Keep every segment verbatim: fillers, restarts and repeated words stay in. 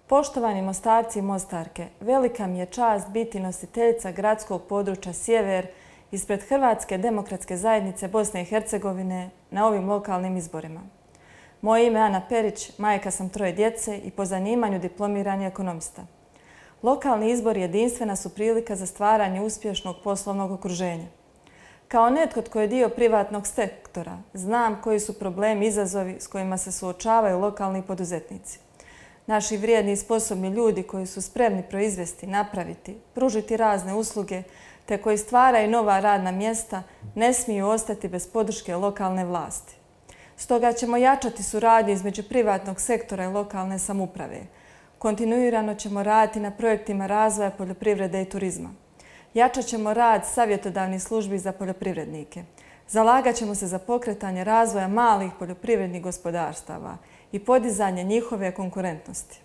Poštovani Mostarci i Mostarke, velika mi je čast biti nositeljica gradskog područja Sjever ispred Hrvatske demokratske zajednice Bosne i Hercegovine na ovim lokalnim izborima. Moje ime je Ana Perić, majka sam troje djece i po zanimanju diplomirani ekonomista. Lokalni izbori jedinstvena su prilika za stvaranje uspješnog poslovnog okruženja. Kao netko tko je dio privatnog sektora, znam koji su problemi i izazovi s kojima se suočavaju lokalni poduzetnici. Naši vrijedni i sposobni ljudi koji su spremni proizvesti, napraviti, pružiti razne usluge, te koji stvaraju nova radna mjesta, ne smiju ostati bez podrške lokalne vlasti. Stoga ćemo jačati suradnju između privatnog sektora i lokalne samouprave. Kontinuirano ćemo raditi na projektima razvoja poljoprivrede i turizma. Jačat ćemo rad savjetodavnih službi za poljoprivrednike. Zalagat ćemo se za pokretanje razvoja malih poljoprivrednih gospodarstava i podizanje njihove konkurentnosti.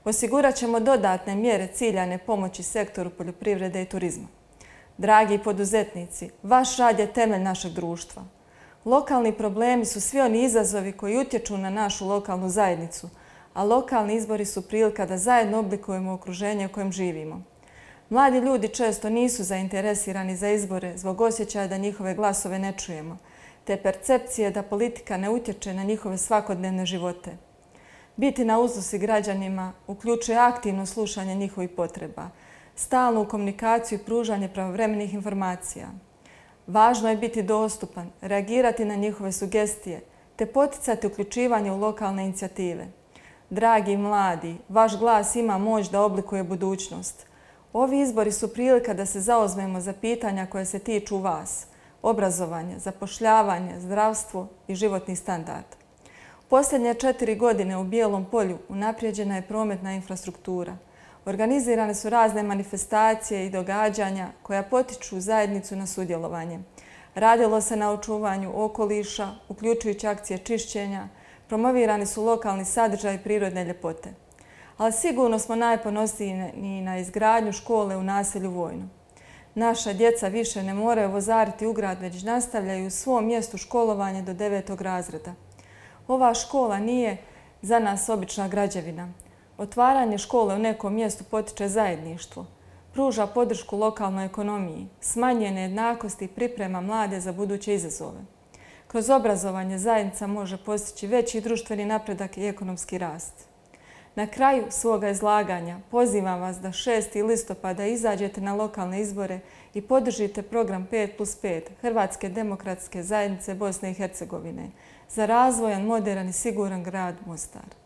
Osigurat ćemo dodatne mjere ciljane pomoći sektoru poljoprivrede i turizma. Dragi poduzetnici, vaš rad je temelj našeg društva. Lokalni problemi su svi oni izazovi koji utječu na našu lokalnu zajednicu, a lokalni izbori su prilika da zajedno oblikujemo okruženje u kojem živimo. Mladi ljudi često nisu zainteresirani za izbore zbog osjećaja da njihove glasove ne čujemo, te percepcije da politika ne utječe na njihove svakodnevne živote. Biti na usluzi građanima uključuje aktivno slušanje njihovih potreba, stalnu komunikaciju i pružanje pravovremenih informacija. Važno je biti dostupan, reagirati na njihove sugestije, te poticati uključivanje u lokalne inicijative. Dragi mladi, vaš glas ima moć da oblikuje budućnost. Ovi izbori su prilika da se zauzmemo za pitanja koje se tiču vas, obrazovanje, zapošljavanje, zdravstvo i životni standard. Posljednje četiri godine u Bijelom Polju unaprijeđena je prometna infrastruktura. Organizirane su razne manifestacije i događanja koja potiču zajednicu na sudjelovanje. Radilo se na očuvanju okoliša, uključujući akcije čišćenja, promovirani su lokalni sadržaj i prirodne ljepote. Ali sigurno smo najponosniji na izgradnju škole u naselju Vojno. Naša djeca više ne moraju vozariti u grad, već nastavljaju u svom mjestu školovanje do devetog razreda. Ova škola nije za nas obična građevina. Otvaranje škole u nekom mjestu potiče zajedništvo, pruža podršku lokalnoj ekonomiji, smanjuje nejednakosti i priprema mlade za buduće izazove. Kroz obrazovanje zajednica može postići veći društveni napredak i ekonomski rast. Na kraju svoga izlaganja pozivam vas da šestog listopada izađete na lokalne izbore i podržite program pet plus pet Hrvatske demokratske zajednice Bosne i Hercegovine za razvojan, moderan i siguran grad Mostar.